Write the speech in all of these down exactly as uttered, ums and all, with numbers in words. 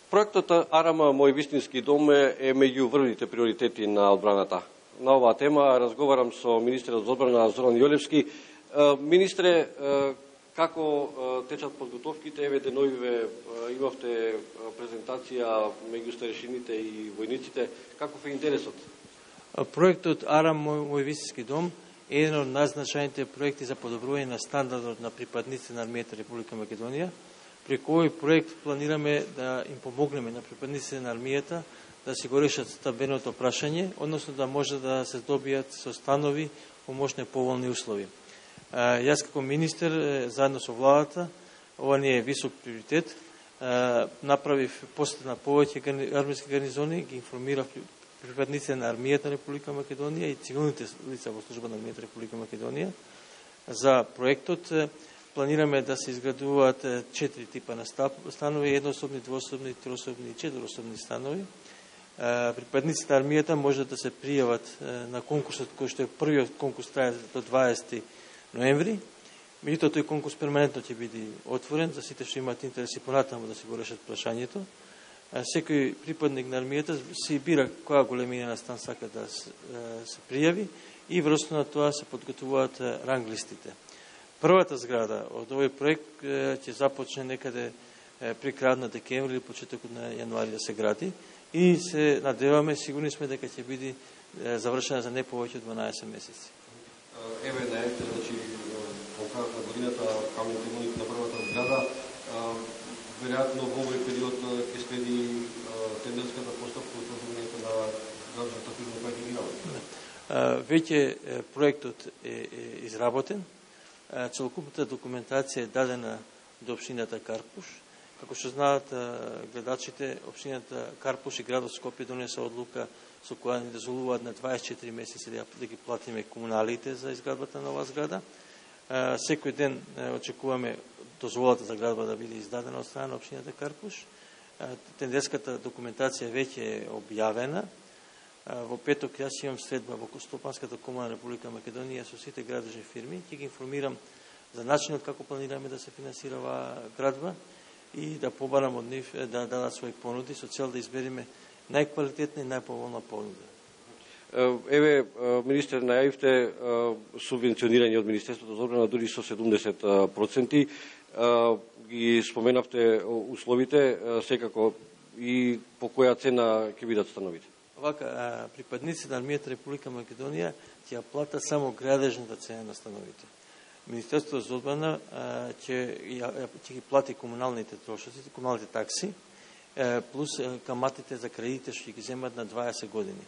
Проектот АРАМ Мој вистински дом е меѓу врвните приоритети на одбраната. На оваа тема разговарам со министерот за одбрана Зоран Јолевски. Министре, како течат подготовките? Еве деновиве имавте презентација меѓу старешините и војниците. Каков е интересот? Проектот АРАМ Мој вистински дом е еден од најзначајните проекти за подобрување на стандардот на припадниците на армијата Република Македонија. Преку овој проект планираме да им помогнеме на припадниците на армијата да си го решат стабилното прашање, односно да може да се добијат со станови по можни поволни услови. Јас како министер, заедно со владата, ова не е висок приоритет, направив посета на повеќе армиски гарнизони, ги информирав припадниците на армијата на Република Македонија и цивилните лица во служба на армијата Република Македонија за проектот. Планираме да се изградуваат четири типа на станови, еднособни, двособни, троособни и четирособни станови. Припадниците на армијата може да се пријават на конкурсот кој што е првиот конкурс трае до дваесети ноември. Меѓутоа тој конкурс перманентно ќе биде отворен за сите што имаат интереси понатаму да се го решат прашањето. Секој припадник на армијата си бира која големина на стан сака да се пријави и врз на тоа се подготвуваат ранглистите. Првата зграда од овој проект ќе започне некаде при крајот на декември или почетокот на јануари да се гради и се надеваме, сигурни сме дека ќе биде завршена за не повеќе од дванаесет месеци. Еве најавите, значи по крајот на годината камен темелник на првата зграда, веројатно во овој период ќе следи тендерската постапка од оформувањето на градската фирма која ќе ги работи. Веќе проектот е изработен. Целокупната документација е дадена до општината Карпуш. Како што знаат гледачите, општината Карпуш и градот Скопје донесе одлука со која ни дозволуваат на дваесет и четири месеци да ги платиме комуналите за изградбата на оваа зграда. Секој ден очекуваме дозволата за градба да биде издадена од страна на општината Карпуш. Тендерската документација веќе е објавена. Во петок јас имам средба во Стопанската комуна на Република Македонија со сите градежни фирми. Ќе ги информирам за начинот како планираме да се финансира оваа градба и да побарам од нив да дадат своји понуди со цел да избериме најквалитетна и најповолна понуда. Еве, министер, најавивте субвенционирање од Министерството за одбрана дури со седумдесет проценти. Ги споменавте условите, секако и по која цена ќе бидат становите? Вака, припадници на армијата Република Македонија ќе ја платат само градежната цена на становите. Министерството за одбрана ќе ги плати комуналните трошоци, комуналните такси, плюс каматите за кредитите што ги земат на дваесет години.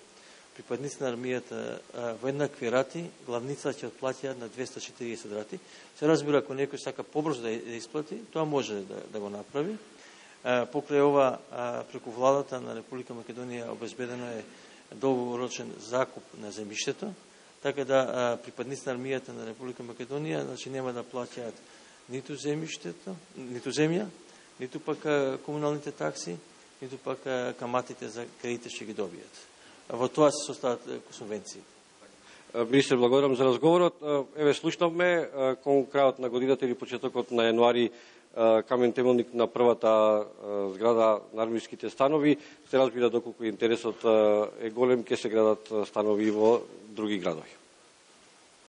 Припадници на армијата во еднакви рати, главница ќе отплатиат на двесте и четириесет рати. Се разбира, ако некој сака побрзо да исплати, тоа може да, да го направи. Покрај ова, преку владата на Република Македонија обезбедено е долгорочен закуп на земјиштето, така да припадници на армијата на Република Македонија значи нема да плаќаат ниту земјиштето, ниту земја, ниту пак комуналните такси, ниту пак каматите за кредитите што ги добијат. Во тоа се состават субвенции. Министер, благодарам за разговорот. Еве слушнавме кон крајот на годината или почетокот на јануари камен темелник на првата зграда на армиските станови. Се разбира доколку интересот е голем, ќе се градат станови во други градови.